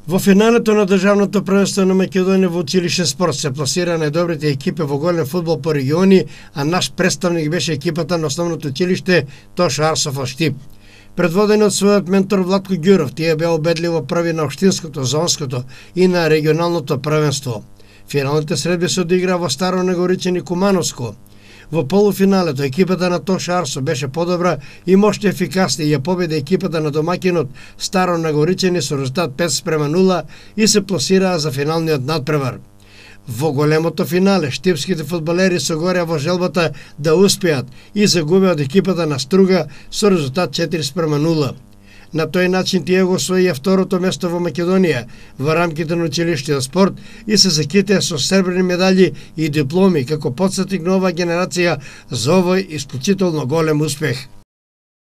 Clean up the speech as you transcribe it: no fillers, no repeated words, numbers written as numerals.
Во финалето на државното првенство на Македонија во училишен спорт се пласира најдобрите екипи во голем фудбал по региони, а наш представник беше екипата на основното училиште Тоша Арсов од Штип. Предводени од својот ментор Владко Ѓуров, тие беа убедливо први на општинското, зонското и на регионалното првенство. Финалните средби се одигра во Старо Негоричен и Кумановско. Во полуфиналето екипата на Тоша Арсо беше подобра и моште ефикасна и ја победи екипата на домаќинот Старо Нагоричени со резултат 5:0 и се пласираа за финалниот надпревар. Во големото финале штипските фудбалери се гореа во желбата да успеат и загубеа од екипата на Струга со резултат 4:0. На тој начин тие го освоија второто место во Македонија во рамките на училиштиот спорт и се закитеа со сребрени медали и дипломи како потсетник на оваа генерација за овој исклучително голем успех.